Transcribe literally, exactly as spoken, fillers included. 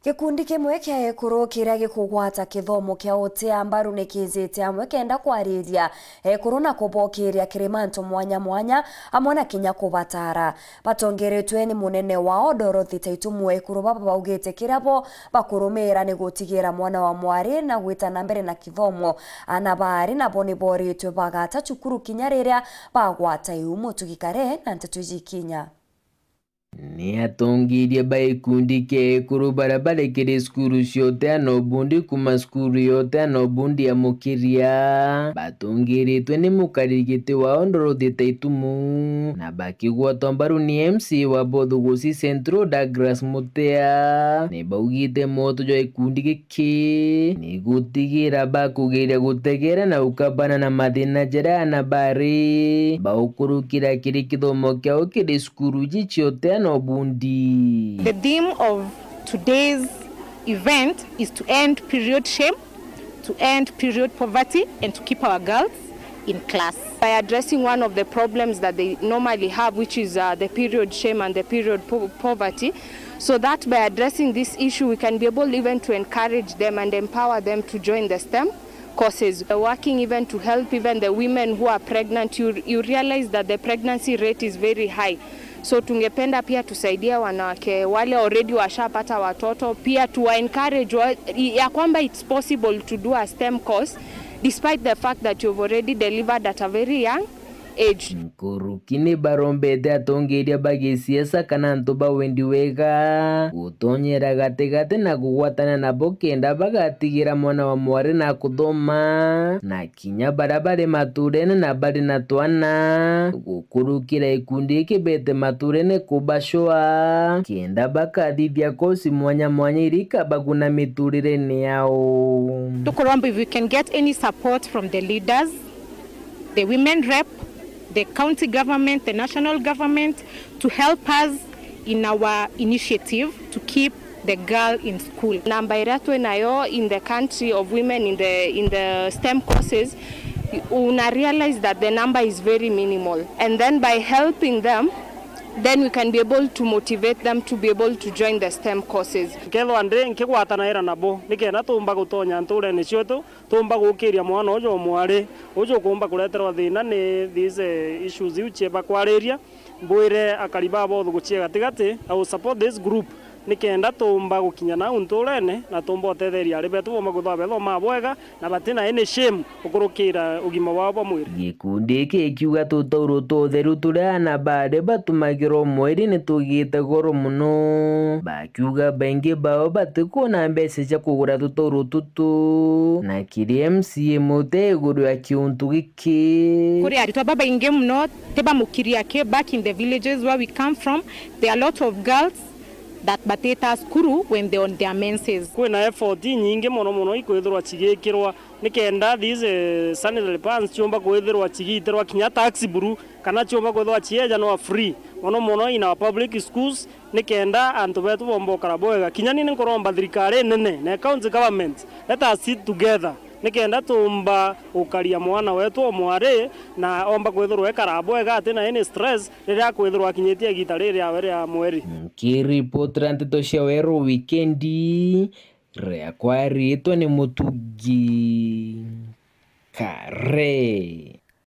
Gikundi kimwe kia ekuru kiria gikugwata kithomo kia utia mbaru ni kiijite amwe kenda kwariria ekuru na kubokiria kiri mantu mwanya mwanya, amwe na kinya kubatara. Batongeretwe ni munene wao Dorothy Taitumu, ekuru baba baugite kiria bo bakurumira ni gutigira mwana wa mwari na gwita na mbere na kithomo. Ana baari nabo ni boritwe bagata cukuru kinya riria bagwata iu. Mutugi Kare na nteto iji ikinya. Ni atongeria ba gikundi kia ekuru baria bari kiri cukuru cia uteana ubundi kuuma cukuru ya uteana ubundi ya Mukiria batongeretwe ni mukariri giti wao Dorothy Taitumu, na bakigwatwa mbaru ni M C A wa Bothugusi Central Douglas Mutea, ni baugite mwoto jwa gikundi giki ki ni gutigira bakugeria gutegera na gukabana na mathina jaria ana bari baukurukira kiri kithomo kiao kiri cukuru iji cia uteana ubundi. The theme of today's event is to end period shame, to end period poverty, and to keep our girls in class. By addressing one of the problems that they normally have, which is, uh, the period shame and the period po-, poverty, so that by addressing this issue, we can be able even to encourage them and empower them to join the STEM courses. We're working even to help even the women who are pregnant. You, you realize that the pregnancy rate is very high. So tungependa pia tusaidia wanawake wale already washapata watoto, pia tuwa encourage wa, ya kwamba it's possible to do a STEM course despite the fact that you've already delivered at a very young age. Nkuruki ni barombete atongeria ba gisiasa kana antu ba wendi wega gutonyera gatigati na kugwatana nabo kenda bagatigira mwana wa mwari na kuthoma, na kinya baria bari maturene na bari na twana gukurukira gikundi giki bete maturene kubacua kenda bakathithia kosi mwanya mwanya iria ikabaguna miturirene yao. Tukuromba if we can get any support from the leaders, the women rep, the county government, the national government to help us in our initiative to keep the girl in school. Namba iria twi nayo in the country of women in the, in the STEM courses, una realize that the number is very minimal. And then by helping them, then we can be able to motivate them to be able to join the STEM courses. Nkethwa ndi nkigwatanaira nabo, nikenda tumba gutonya nturene cietu, tumba gukiria mwana uju o mwari, uju ukumba kureterwa thina ni these, eh, issues iu cieba kwariria. Mbwire akari ba Bothugusi gatigati, I will support this group, nikenda tumba gukinya nau nturene, na tumba utetheria ari betu bomba kwithwa bethoma bwega, na batina any shame ukurukira ugima wao bwa mwiri. Gikundi giki gikiuga tutauro tutheru turia ana bari batumagirwa mweri ni tugite goro muno. Bakiuga baingi bao batikuona mbeca cia kugura tutauro tutu, na kiri M C A Mutea iguru ya kiuntu giki. Kuri aritwa babaingi muno tibamukiria ki back in the villages where we come from. There are a lot of girls that batita cukuru when they on their menses. Kwina effort inyingi mono mono ikwithirwa cigikirwa nikenda these, eh, sanitary pads ciumba kwithirwa cigiitirwa kinya tax buru, kana ciumba kwithirwa ciejanwa free, mono mono in our public schools, nikenda antu betu bomba ukara bwega. Kinya ni nkuromba thirikari nene na county government, let us sit together nikenda tumba gukaria mwana wetu o mwari, na omba kwithirwa ekara bwega atina any stress riria akwithirwa akinyitie igita riri riawe ria mweri. Nkiripotera nteto cia Weru Wikendi, riakwa riitwa ni Mutugi Kare.